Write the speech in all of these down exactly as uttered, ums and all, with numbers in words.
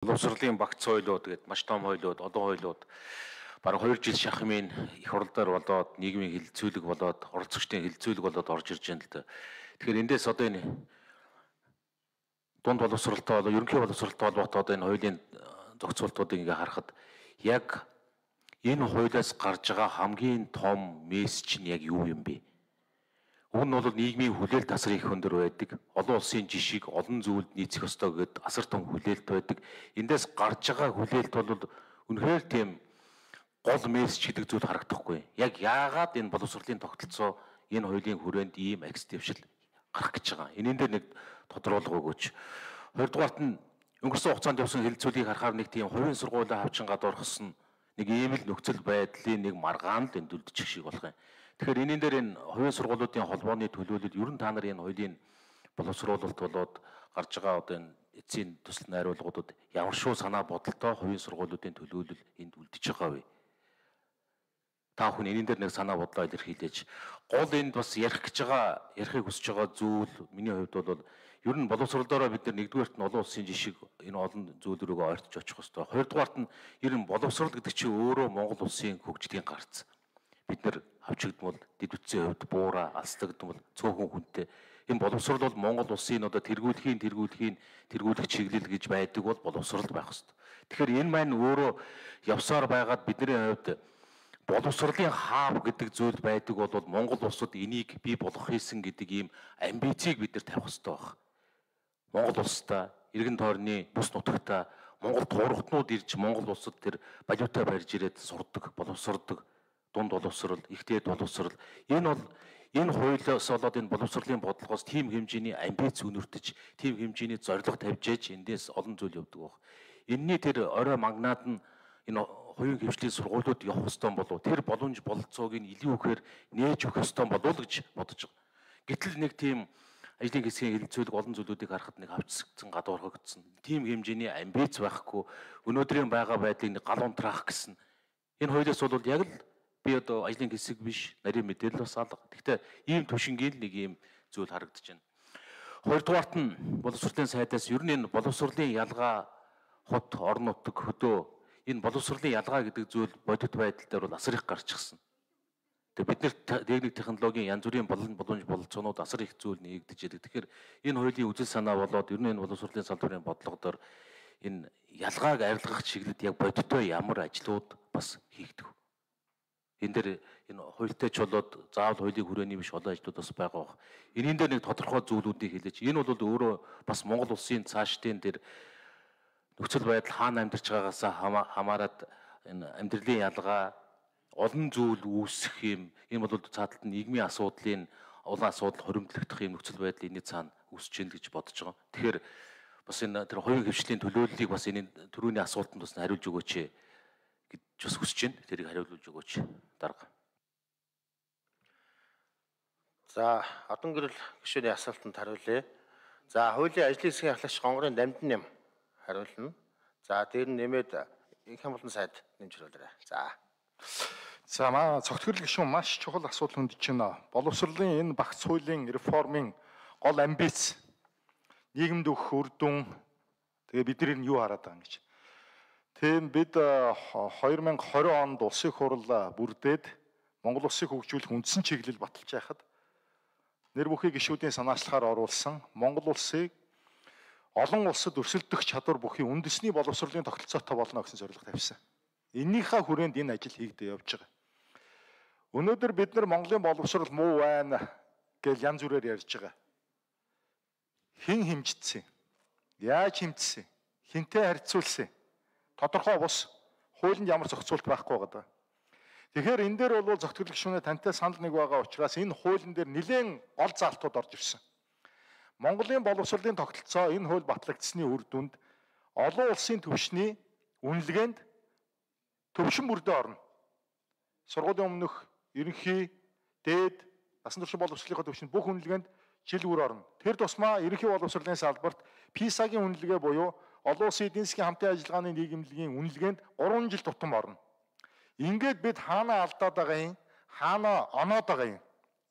Боловсролын багц хойлууд гэдэг маш том хойлууд, олон хойлууд бараг хоёр жил шахмын их хурлаар болоод нийгмийн хилцүүлэг болоод оролцогчдын хилцүүлэг болоод орж ирж байна л да. Тэгэхээр эндээс одоо энэ дунд боловсролтой болоо ерөнхий боловсролтой холбоотой одоо энэ хуулийн зохицуултуудыг ингээ харахад яг энэ хуулиас гарч байгаа хамгийн том мессеж нь яг юу юм бэ? Уг нь бол нийгмийн хүлээлт асар их өндөр байдаг. Олон улсын жишгийг олон зүйлд нийцэх ёстой гэдэг асар том хүлээлт байдаг. Эндээс гарч байгаа хүлээлт бол үнэхээр тийм гол мессеж гэдэг зүйл харагдахгүй. Яг яагаад энэ боловсролын тогтолцоо энэ хуулийн хүрээнд ийм акс дэвшил гарах гэж байгаа. Энийн дээр нэг тодруулга өгөөч. Хоёрдугаарт нь өнгөрсөн хугацаанд явсан хилцүүлгийг харахаар нэг тийм хувийн сургуулийн хавчин гадуур хосон нэг ийм л нөхцөл байдлын нэг маргаан л энд үлдчих шиг болох юм. Тэгэхээр энийн дээр энэ хувийн сургуулиудын холбооны төлөөлөл ер нь та нар энэ хуулийн боловсруулалт болоод гарч байгаа одоо энэ эцсийн төсөл найруулгуудад ямар шүү санаа бодолтой хувийн сургуулиудын төлөөлөл энд үлдэж байгаа вэ? Та бүхэн энийн дээр нэг санаа бодлоо илэрхийлээч. Гол энд бас ярих гэж байгаа, ярихыг хүсэж байгаа зүйл миний хувьд бол ер нь боловсролоороо бид нар нэгдүгээрт нь олон улсын жишг энэ олон зүйл рүүгээ ойртож очих хэрэгтэй. Хоёрдугаарт нь ер нь боловсрол гэдэг чинь өөрөө Монгол улсын хөгжлийн гарц. Бид нар авчигдмал дэд үтсийн хувьд буура алслагдмал цөөхөн хүнтэй энэ боловсрол бол Монгол улсын одоо тэргүүлэхийн тэргүүлэхийн тэргүүлэх чиглэл гэж байдаг бол боловсрол байх хэрэгтэй. Тэгэхээр энэ маань өөрөө явсаар байгаад бидний хувьд боловсролын хаав гэдэг зүйл байдаг бол Монгол улсад энийг бий болгох хийсэн гэдэг ийм амбицийг бид нар тавих хэрэгтэй байна. Монгол улстай иргэн тойрны бүс нутагта Монгол туурхтнууд ирж Монгол улсад тэр балиутай барьж ирээд сурдаг, боловсрдог, дунд боловсрол, ихтэй боловсрол энэ бол энэ хуулиас болоод энэ боловсролын бодлогоос тийм хэмжээний амбиц өнөртөж, тийм хэмжээний зорилго тавьж ээж эндээс олон зүйл явдаг баг. Энийний тэр орой магнаад нь энэ хувийн хвшлийн сургуулиуд явах ёстой болов тэр боломж бололцоог нь илүү ихээр нээж өгөх ёстой болов уу гэж бодож байгаа. Гэтэл нэг тийм ажлын хэсгийн хилцүүлэг олон зүйлүүдийг харахад нэг авчсагдсан гадуурхагдсан. Тийм хэмжээний амбиц байхгүй өнөөдрийн байгаа байдлыг нэг гал унтраах гэсэн. Энэ хуулиас бол яг л би одоо ажлын хэсэг биш, нарийн мэдээлэл бас алга. Гэхдээ ийм төвшингийн нэг ийм зүйл харагдаж байна. Хоёрдугаарт нь боловсролын сайдаас ер нь энэ боловсролын ялгаа хот, орон нутаг, хөдөө энэ боловсролын ялгаа гэдэг зүйл бодит байдал дээр бол асар их гарчихсан. Тэгээ бид нэр техник технологийн янз бүрийн болон боломж бололцоонууд асар их зүйл нэгдэж идэг. Тэгэхээр энэ хуулийн үзэл санаа болоод ер нь энэ боловсролын салбарын бодлогоор энэ ялгааг арилгах чиглэлд яг бодиттой ямар ажлууд бас хийгдэх. Энэ дээр энэ хуультай ч болоод заавал хуулийн хүрээний биш олон ажлууд бас байгаа бох. Энийн дээр нэг тодорхой зүйлүүдийг хэлээч. Энэ бол өөрөө бас Монгол улсын цаашдын тэр нөхцөл байдал хаана амьдарч байгаагаас хамаарат энэ амьдралын ялгаа олон зүйл үүсэх юм. Энэ бол цааталт нь нийгмийн асуудлын олон асуудал хоримтлогдох юм нөхцөл байдал энэ цаана үүсэж гэнэ гэж бодож байгаа. Тэгэхээр бас энэ тэр хувийн хвшлийн төлөөллийг бас энэ төрөүний асуултанд бас хариулж өгөөч гэж бас хүсэж байна. Тэрийг хариулж өгөөч. Дарга. За, одон гэрэл гишүүний асуултанд хариулъя. За, хуулийн ажлын хэсгийн ахлагч гонгорын дамжин нэм хариулна. За, дээр нь нэмээд их хамгаалалтын сайд нэмж хариулаарай. За. За маа цогтгөрөл гишүүн маш чухал асуудал хөндөж байна. Боловсролын энэ багц хуулийн реформын гол амбиц нийгэмд өгөх үр дүн тэгээ бидний нь юу хараад байгаа юм гэж. Тийм бид хоёр мянга хорин онд улсын хурал бүрдээд Монгол улсыг хөгжүүлэх үндсэн чиглэл баталж байхад нэр бүхий гишүүдийн санаачлахаар оруулсан Монгол улсыг олон улсад өрсөлдөх чадвар бүхий үндэсний боловсролын тогтолцоотой болно гэсэн зорилго тавьсан. Энийхээ хүрээнд энэ ажил хийгдэж явж байгаа. Өнөөдөр бид нар Монголын боловсрол муу байна гэж янз бүрээр ярьж байгаа. Хэн хэмжигдсэн? Яаж хэмжсэн? Хэнтэй харьцуулсан? Тодорхой бус хуулинд ямар зохицуулт байхгүй байгаа. Тэгэхээр энэ дээр бол зохицуулах гишүүнээ тантай санал нэг байгаа учраас энэ хуулийн дээр нэлээд гол заалтууд орж ирсэн. Монголын боловсролын тогтолцоо энэ хууль батлагдсны үр дүнд олон улсын түвшний үнэлгээнд төвшин бүрдээ орно. Сургуулийн өмнөх ерөнхий, дээд, насан турш боловсролын төвшин бүх үнэлгээнд жил бүр орно. Тэр тусмаа ерөнхий боловсролын салбарт писагийн үнэлгээ буюу олон улсын эдийн засгийн хамтын ажиллагааны нийгэмлэгийн үнэлгээнд гурван жил тутам орно. Ингээд бид хаана алдаад байгаа юм, хаана оноод байгаа юм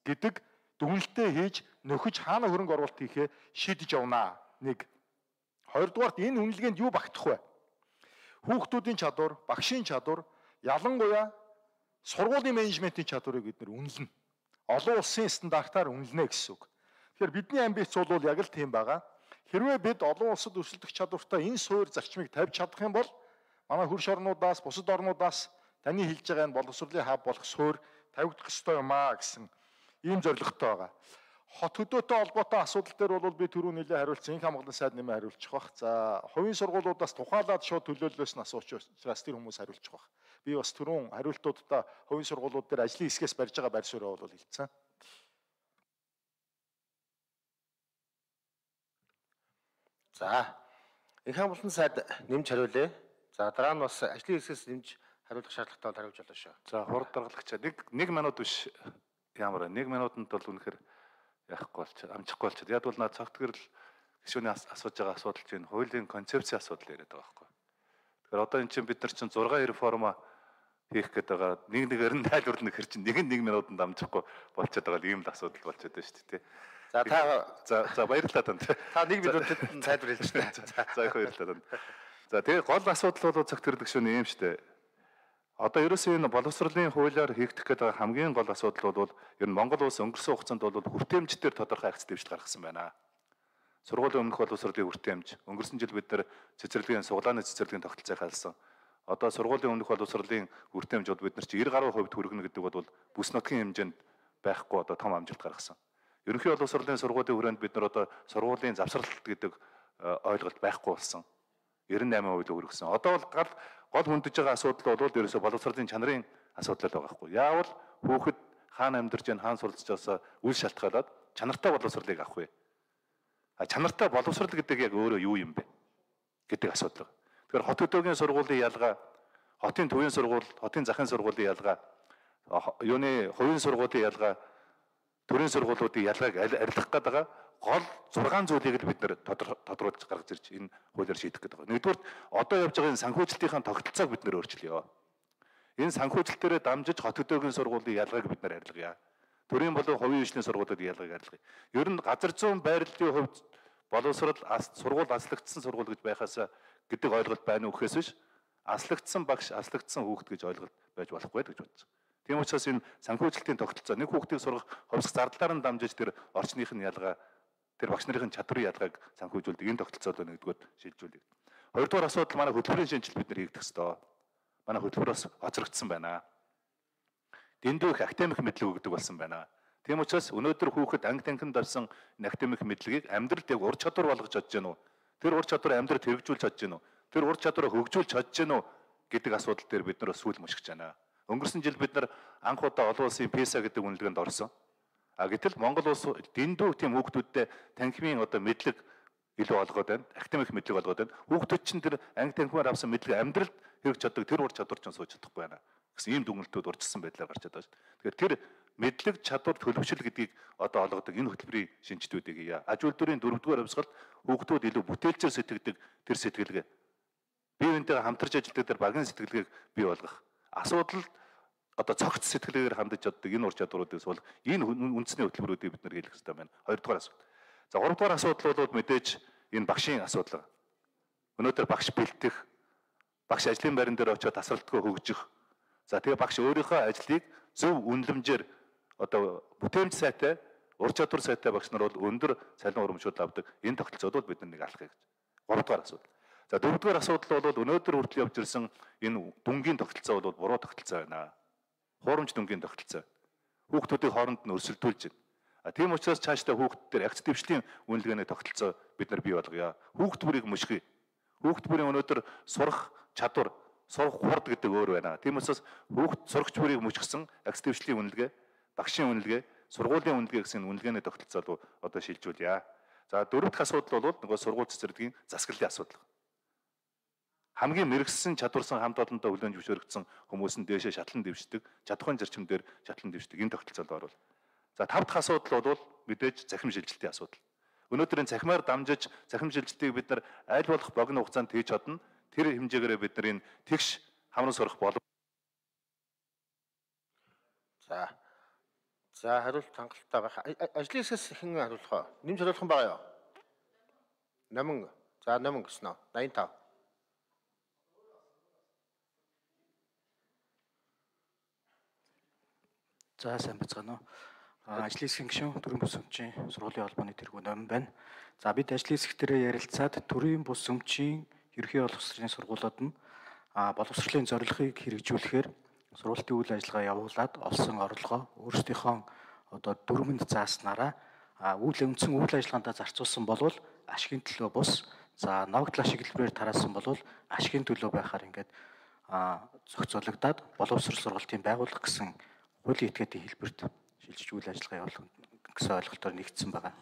гэдэг дүгнэлтээ хийж нөхөж хаана хөрөнгө оруулалт хийхээ шийдэж явнаа. Нэг. Хоёрдугаарт энэ үнэлгээнд юу багтах вэ? Хүүхдүүдийн чадвар, багшийн чадвар, ялангуяа сургуулийн менежментийн чадварыг бид нэр үнэлнэ. Олон улсын стандартаар үнэлнэ гэсэн үг. Тэгэхээр бидний амбиц бол яг л тийм байгаа. Хэрвээ бид олон улсад өрсөлдөх чадвартай энэ суурь зарчмыг тавьж чадах юм бол манай хөрш орнуудаас, бусад орнуудаас таны хэлж байгаа энэ боловсролын хаб болох суурь тавигдах ёстой юм аа гэсэн ийм зорилготой байгаа. Хот хөдөөтэй холбоотой асуудал дээр бол би түрүү нэлээд хариулсан. Инх хамгаалалтын сайд нэмээ хариулчих бах. За, хувийн сургуулиудаас тухайлаад шууд төлөөллөөс нь асууч учраас тэр хүмүүс хариулчих бах. Би бас түрүүн хариултуудаа хувийн сургуулиуд дээр ажлын хэсгээс барьж байгаа байр суурьаа бол хэлсэн. За, инх хамгаалалтын сайд нэмж хариулъя. За, дараа нь бас ажлын хэсгээс нэмж хариулах шаардлагатай бол хариулж болно шүү. За, хурд даргалагч нэг нэг минут биш ямар нэг минутанд бол үнэхээр яахгүй болч амжихгүй болчиход. Яг бол наад цогтгөрл гишүүний асууж байгаа асуудал чинь хуулийн концепцийн асуудал яриад байгаа байхгүй. Тэгэхээр одоо эн чинь бид нар чинь зургаан реформа хийх гээд байгаа. Нэг нэгээр нь тайлбарлах хэр чинь нэг нь нэг минутанд амжихгүй болчиход байгаа ийм л асуудал болчиход байна шүү дээ. За та за за баярлалаа танд. Та нэг минутанд тайлбар хэлж байна. За их баярлалаа танд. За тэгээ гол асуудал бол цогтгөрл гишүүний юм шүү дээ. Одоо ерөөсөө энэ боловсролын хуулиар хийгдэх гэдэг хамгийн гол асуудал бол ер нь Монгол улс өнгөрсөн хугацаанд бол хүртээмжтэр тодорхой акц дэвшил гаргасан байна. Сургуулийн өмнөх боловсролын хүртээмж, өнгөрсөн жил бид нар цэцэрлэгийн суглааны цэцэрлэгийн тогтолцоог халсан. Одоо сургуулийн өмнөх боловсролын хүртээмж бол бид нар чи девять гаруй хувьд хүргэнэ гэдэг бол бүс нутгийн хэмжээнд байхгүй одоо том амжилт гаргасан. Ерөнхий боловсролын сургуулийн хүрээнд бид нар одоо сургуулийн завсралт гэдэг ойлголт байхгүй болсон. девяносто восемь хувийг хүргэсэн. Одоо бол гал гол хүндэж байгаа асуудал бол ерөөсө боловсролын чанарын асуудал байгаа байхгүй. Яавал хүүхэд хаана амьдарч байна, хаана суралцж байгаасаа үл шалтгаалаад чанартай боловсролыг авах вэ? А чанартай боловсрол гэдэг яг өөрөө юу юм бэ гэдэг асуудал. Тэгэхээр хот хөдөөгийн сургуулийн ялгаа, хотын төвийн сургууль, хотын захын сургуулийн ялгаа, юуны хувийн сургуулийн ялгаа, төрийн сургуулиудын ялгааг арилгах гэдэг гол зургаан зүйлийг л бид нэр тодруулж гаргаж ирж энэ хуулиар шийдэх гэдэг байна. Нэгдүгээр одоо явж байгаа энэ санхүүжилтийн тогтолцоог бид нэр өөрчлөё. Энэ санхүүжилтээрээ дамжиж хот хөдөөгийн сургуулийн ялгааг бид нэр арилгая. Төрийн болон хувийн хөгжлийн сургуулиудын ялгааг арилгая. Ер нь газар зүйн байрлалын хувьд боловсрол сургууль аслагдсан сургууль гэж байхаас гэдэг ойлголт байна уу гэхээс биш аслагдсан багш, аслагдсан хүүхэд гэж ойлголт байж болохгүй гэж бодсон. Тийм учраас энэ санхүүжилтийн тогтолцоо нэг хүүхдийг сургах хувьсах зардлаар нь дамжиж тэр орчных нь ялгаа тэр багш нарын чадрын ялгааг санхүүжүүлдэг энэ тогтолцоолоо нэгдүгээр шилжүүлдэг. Хоёрдугаар асуудал манай хөтөлбөрийн шинжил бид нар хийгдэх ёстой. Манай хөтөлбөр бас хоцрогдсон байна. Дэндүү их академик мэдлэг өгдөг болсон байна. Тийм учраас өнөөдөр хүүхэд анги танхимд авсан энэ академик мэдлэгийг амьдралд яг ур чадвар болгож чадж гэнэ үү? Тэр ур чадварыг амьдралд хэрэгжүүлж чадж гэнэ үү? Тэр ур чадварыг хөгжүүлж чадж гэнэ үү гэдэг асуудал дээр бид нар сүүл мушгиж байна. Өнгөрсөн жил бид нар анх удаа олон улсын писа гэдэг үнэлгээнд орсон. А гэтэл Монгол улс дэндүү тийм хүүхдүүдтэй танхимын одоо мэдлэг илүү олгоод байна. Академик мэдлэг олгоод байна. Хүүхдүүд чинь тэр анги танхимаар авсан мэдлэг амьдралд хэрэгж чаддаг тэр ур чадвар чинь сууж чадахгүй байна гэсэн ийм дүгнэлтүүд урьдчилсан байдлаар гарч чадаад байна. Тэгэхээр тэр мэдлэг чадвар төлөвшил гэдгийг одоо олгодог энэ хөтөлбөрийн шинжтүүдийг яа. Аж үйлдвэрийн дөрөвдүгээр хувьсгалд хүүхдүүд илүү бүтээлчээр сэтгэдэг тэр сэтгэлгээ. Бие биентэйгээ хамтарч ажилладаг тэр багийн сэтгэлгээг бий болгох. Асуудал одоо цогц сэтгэлгээгээр хандаж чаддаг энэ ур чадваруудыг бол энэ үндэсний хөтөлбөрүүдийг бид нар хийх хэрэгтэй байна. Хоёрдугаар асуудал. За гуравдугаар асуудал бол мэдээж энэ багшийн асуудал. Өнөөдөр багш бэлтгэх, багш ажлын байран дээр очиод тасралтгүй хөгжих. За тэгээ багш өөрийнхөө ажлыг зөв үнэлэмжээр одоо бүтээмж сайтай, ур чадвар сайтай багш нар бол өндөр цалин урамшуул авдаг. Энэ тогтолцоод бол бид нар нэг алхах гэж. Гуравдугаар асуудал. За дөрөвдүгээр асуудал бол өнөөдөр хүртэл явж ирсэн энэ дүнгийн тогтолцоо бол буруу тогтолцоо байна. Хуурамч дүнгийн тогтолцоо. Хүүхдүүдийн хооронд нь өрсөлдүүлж байна. А тийм учраас цаашдаа хүүхд дээр акц дэвшлийн үнэлгээний тогтолцоо бид нар бий болгоё. Хүүхд бүрийг мушгий. Хүүхд бүрийн өнөөдөр сурах чадвар, сурах хурд гэдэг өөр байна. Тийм учраас хүүхд сурагч бүрийг мушгсан акц дэвшлийн үнэлгээ, багшийн үнэлгээ, сургуулийн үнэлгээ гэсэн үнэлгээний тогтолцоо одоо шилжүүлье. За дөрөв дахь асуудал бол нөгөө сургууль цэцэрлэгийн засаглалын асуудал. Хамгийн мэрэгсэн чадварсан хамт олонтой хүлээн зөвшөөрөгдсөн хүмүүс нь дээшээ шатлан дэвшдэг, чадхын зарчимдэр шатлан дэвшдэг энэ тогтолцоонд орвол. За тав дахь асуудал бол мэдээж цахим шилжилтийн асуудал. Өнөөдөр энэ цахимаар дамжиж цахим шилжилтийг бид нар аль болох богино хугацаанд хийж чадна. Тэр хэмжээгээр бид нар энэ тэгш хамран сурах болов. За. За хариулт хангалттай байх. Ажлын хэсгээс хэн хариулах вэ? Нэмж хариулах юм байгаа юу? Намын. За намын гэснэ. восемьдесят пять. За сайн байцгаана уу. Ажлын хэсгийн гишүүн төрийн бус өмчийн сургуулийн холбооны тэргүүн номин байна. За бид ажлын хэсэг дээр ярилцаад төрийн бус өмчийн ерөнхий боловсролын сургуулиуд нь боловсролын зорилгыг хэрэгжүүлэхээр сургуулийн үйл ажиллагаа явуулаад олсон орлогоо өөрсдийнхөө одоо дүрмэнд зааснараа үйл үндсэн үйл ажиллагаанд зарцуулсан болвол ашигын төлөө бус, за ногдлоо шиглэлээр тараасан болвол ашигын төлөө байхаар ингээд зохицуулагдаад боловсрол сургалтын байгууллага гэсэн хуулийн этгээдийн хэлбэрт шилжиж үйл ажиллагаа явуулах гэсэн ойлголтоор нэгдсэн байгаа.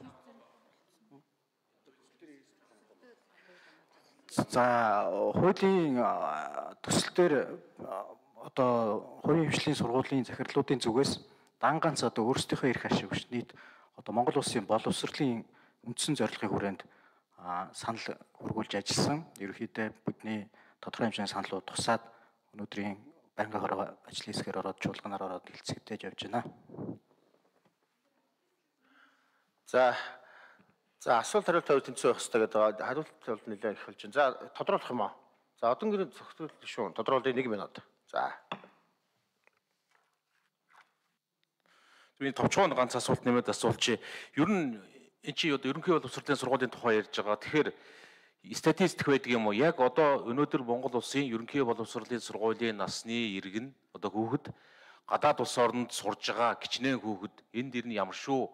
За хуулийн төсөл дээр одоо хувийн хвшлийн сургуулийн захирлуудын зүгээс дан ганц одоо өөрсдийнхөө эрх ашиг биш нийт одоо Монгол улсын боловсролын үндсэн зорилгын хүрээнд санал хургуулж ажилласан. Ерөнхийдөө бидний тодорхой хэмжээний саналууд тусаад өнөөдрийн банкны хороо ажлын хэсгээр ороод чуулганаар ороод хэлцэгдэж явж байна. За за асуулт хариулт тавь тэнцүү байх хэрэгтэй гэдэг хариулт бол нэлээд их болж байна. За тодруулах юм аа. За одон гэрээ зөвхөн шүү. Тодруулъя нэг минут. За. Би товчхон ганц асуулт нэмээд асуулчи. Ер нь эн чи одоо ерөнхий боловсролын сургуулийн тухай ярьж байгаа. Тэгэхээр статистик байдаг юм уу? Яг одоо өнөөдөр Монгол улсын ерөнхий боловсролын сургуулийн насны иргэн одоо хүүхэд гадаад улс орнд сурж байгаа кичнээн хүүхэд энд дэр нь ямар шүү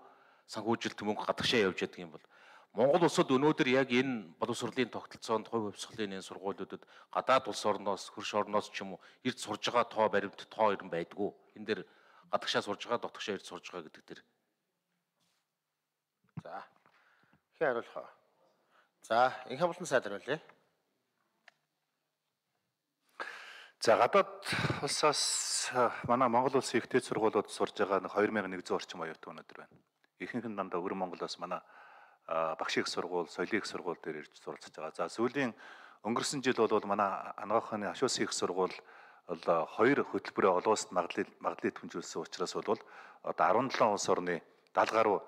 санхүүжилт мөнгө гадагшаа явж яддаг юм бол Монгол улсад өнөөдөр яг энэ боловсролын тогтолцоонд хувь хувьсгалын энэ сургуулиудад гадаад улс орноос хөрш орноос ч юм уу эрд сурж байгаа тоо баримт тоо ирэн байдгүй. Энэ дэр гадагшаа сурж байгаа дотгошоо эрд сурж байгаа гэдэг дэр. За. Хин хариулах. За, инх амлалтын сайд хариулъя. За гадаад улсаас манай Монгол улсын ихтэй сургуулиуд сурж байгаа нэг two thousand one hundred орчим оюутан өнөөдөр байна. Ихэнх нь дандаа Өвөр Монголоос манай багш их сургууль, соёлын их сургууль дээр ирж суралцж байгаа. За сүүлийн өнгөрсөн жил бол манай Анагаахны Ашуусын их сургууль бол хоёр хөтөлбөрөө олон улсад магадлал магадлалыг түнжүүлсэн учраас бол одоо seventeen улс орны seventy гаруй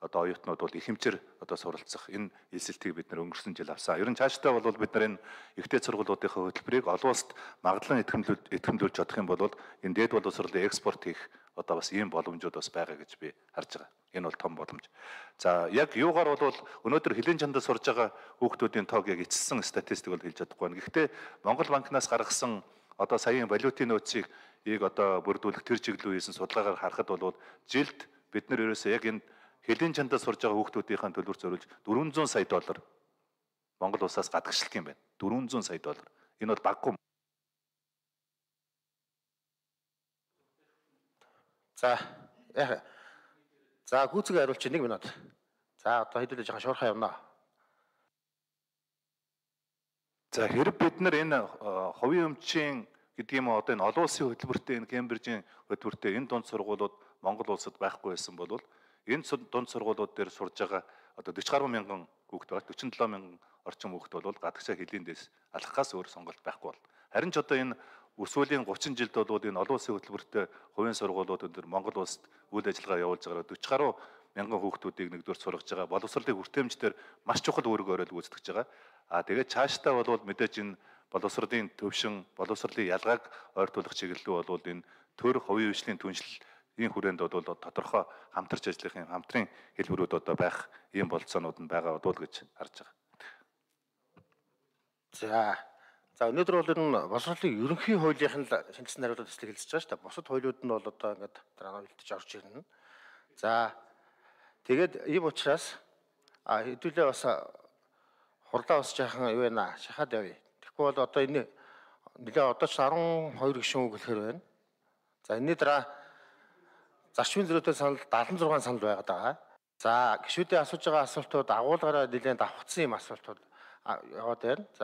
одоо оюутнууд бол их хэмжээр одоо суралцах энэ хэлсэлтийг бид нэр өнгөрсөн жил авсан. Ер нь цаашдаа бол бид нар энэ ихтэй сургуулиудынхаа хөтөлбөрийг олон улсад магадлан итгэмжлүүлж итгэмжлүүлж чадах юм бол энэ дээд боловсролын экспорт хийх одоо бас ийм боломжууд бас байгаа гэж би харж байгаа. Энэ бол том боломж. За яг юугаар бол өнөөдөр хилийн чандад сурж байгаа хүүхдүүдийн тоог яг эцэлсэн статистик бол хэлж чадахгүй байна. Гэхдээ Монгол банкнаас гаргасан одоо саяын валютын нөөцийг ийг одоо бүрдүүлэх тэр чиглэлөө хийсэн судалгаагаар харахад бол жилд бид нар ерөөсөө яг энэ хилийн чандад сурж байгаа хүүхдүүдийн төлбөр зориулж four hundred сая доллар Монгол улсаас гадагшлах юм байна. four hundred сая доллар. Энэ бол баггүй. За яа. За гүйцэг хариулчих нэг минут. За одоо хэдүүлээ жоохон шуурхаа явна. За хэрэг бид нар энэ хувийн өмчийн гэдэг юм одоо энэ олон улсын хөтөлбөртэй энэ Кембрижийн хөтөлбөртэй энэ дунд сургуулиуд Монгол улсад байхгүй байсан бол энэ дунд сургуулиуд дээр сурж байгаа одоо forty гаруй мянган хүүхэд байгаа forty-seven мянган орчим хүүхэд бол гадагшаа хилийн дэс алхахаас өөр сонголт байхгүй бол харин ч одоо энэ өсвөлийн thirty жилд бол энэ олон улсын хөтөлбөртэй хувийн сургуулиуд өндөр Монгол улсад үйл ажиллагаа явуулж байгаа forty гаруй мянган хүүхдүүдийг нэгдүгээр сургаж байгаа боловсролын хүртээмжээр маш чухал үүрэг оройл гүйцэтгэж байгаа. А тэгээд цаашдаа бол мэдээж энэ боловсролын төвшин, боловсролын ялгааг ойртуулах чиглэлөө бол энэ төр хувийн хвшлийн түншлэлийн хүрээнд бол тодорхой хамтарч ажиллахын хамтрын хэлбэрүүд одоо байх ийм болцоонууд нь байгаа бол гэж харж байгаа. За за өнөөдөр бол энэ боловсролын ерөнхий хуулийнх нь шинжилсэн хариултад төслийг хэлж байгаа шүү дээ. Бусад хуулиуд нь бол одоо ингээд дараа нь үлдэж орж ирнэ. За тэгээд ийм учраас а хэдүүлээ бас хурлаа бас жаахан юу байна шахаад явъя. Тэгэхгүй бол одоо энэ нэлээ одоо ч twelve гишүүн үг хэлэхэр байна. За энэний дараа зарчмын зөрүүтэй санал seventy-six санал байгаад байгаа. За гишүүдийн асууж байгаа асуултууд агуулгаараа нэлээд давхцсан юм асуултууд яваад байна.